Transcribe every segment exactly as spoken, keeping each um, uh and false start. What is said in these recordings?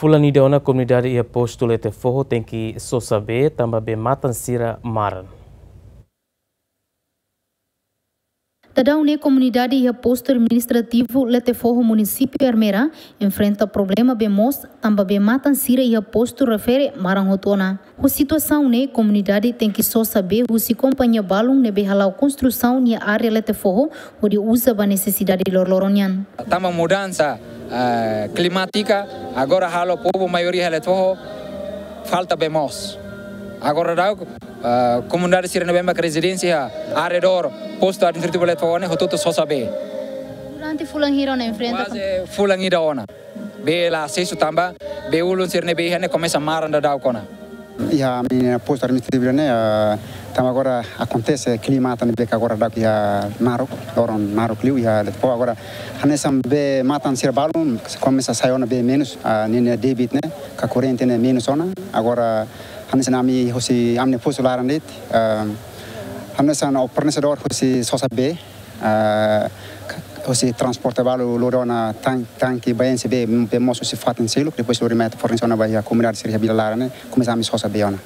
Fulan ida ona komunidade iha postu Letefoho tenke sosa bee tanba bee-matan sira maran. Daudaun ne'e komunidade iha postu administrativu Letefoho, munisípiu Ermera, enfrenta problema bee moos tanba bee-matan sira iha postu refere maran hotu ona. Ho situasaun ne'e komunidade tenke sosa bee husi kompañia balun ne'ebé hala'o konstrusaun iha área Letefoho hodi uza ba nesesidade loroloron nian. Tanba mudansa, eh, klimátika, agora halo povu maioria iha Letefoho falta bee moos. Agora daudaun, eh, komunidade sira ne'ebé mak rezidénsia iha arredór postu administrativu Letefoho ne'e hotu-hotu sosa bee. Durante fulan hira ona enfrenta? Kuaze fulan ida ona. Bee la asesu tanba bee ulun sira ne'ebé iha ne'e komesa maran daudaun ona. Iha ami-nia postu administrativu ne'e, ah, tanba agora akontese klima tan bee agora daudaun iha naruk, loron naruk liu iha Letefoho agora hanesan bee-matan sira balun komesa sai ona bee menus, ah, ninia débit ne'e ka korrente ne'e menus ona. Agora hanesan ami husi ami-nia postu laran de'it, ah, hanesan fornesedór husi sosa bee, ah, husi transporte balu lori ona tan-, tanke ba enxe bee, bee moos husi fatin seluk, depois lori mai fornese ona ba iha komunidade sira iha vila laran ne'e, komesa ami sosa bee ona.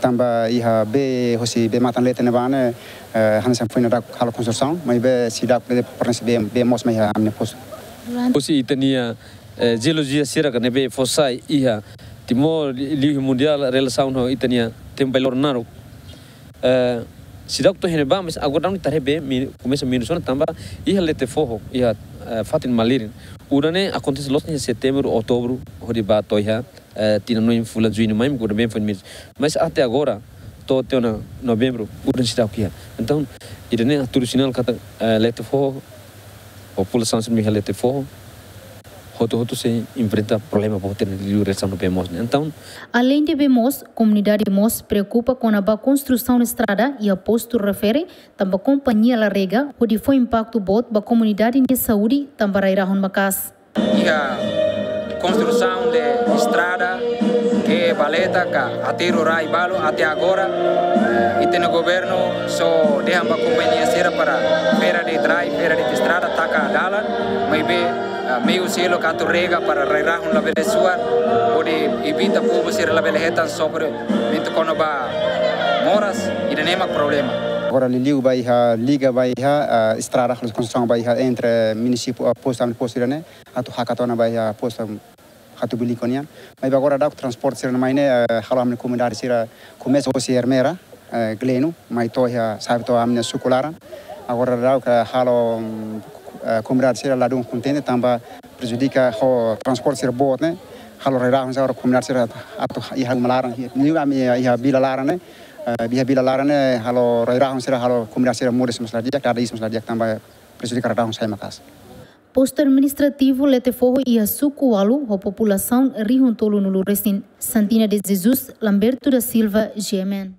Tanba iha bee husi bee-matan leten ne'ebá ne'e, eh, hanesan foin daudaun halo konstrusaun, maibé seidauk bele fornese bee, bee moos mai iha ami-nia postu. Husi ita-nia, eh, jeolojia sira ka ne'ebé fó sai iha Timor, li-, liuhusi mundiál relasaun ho ita-nia tempu bailor naruk. Eh, seidauk to'o iha ne'ebá, mas agora daudaun ita haree bee mi-, komesa menus ona tanba iha Letefoho, iha, eh, fatin malirin. Udan ne'e akontese loos iha setembru, outubru, hodi ba to'o iha, eh, tinan neen fulan juñu mai, udan bee foin menus. Mas até agora, to'o tiha ona novembru, udan seidauk iha. Entaun, ida-ne'e hatudu sinál katak, eh, Letefoho, populasaun sira iha Letefoho, hotu-hotu sei enfrenta problema boot liuliu relasaun ho bee moos ne'e. Entaun, aleinde bee moos, komunidade mós preokupa kona-ba konstrusaun estrada iha postu refere, tanba kompañia la rega, hodi fó impaktu boot ba komunidade nia saúde, tanba rai-rahun maka'as. Iha konstrusaun de estrada, ke valeta ka aterru rai balu, até agora, eh, ita-nia governu só dehan ba kompañia sira para fera de'it rai, fera de'it estrada, taka dalan, maibé, eh, meiu seluk atu rega para rai-rahun labele suar, hodi evita povu sira labele hetan sofrimentu kona-ba moras, ida-ne'e mak problema. Agora liuliu ba iha liga ba iha, eh, estrada, konstrusaun ba iha entre munisípiu, eh, postu, ami-nia postu ida-ne'e, atu hakat ona ba iha postu Hatubuilico nian. Maibé agora daudaun transporte sira mai ne'e, eh, halo ami-nia komunidade sira komesa husi Ermera, eh, Gleno, mai to'o iha, sa'e to'o ami-nia suku laran. Agora daudaun halo, mm, eh, komunidade sira ladún kontente tanba prejudika ho transporte sira boot ne'e, halo rai-rahun sira komunidade sira atu iha uma laran, iha, iha vila laran ne'e, eh, iha vila laran ne'e halo rai-rahun sira, halo komunidade sira moris mós la di'ak, dada iis mós la di'ak tanba prejudika rai-rahun sai maka'as. Postu administrativu Letefoho iha suku ualu ho populasaun rihun tolunulu resin. Santina de Jesus, Lamberto da Silva, G M N.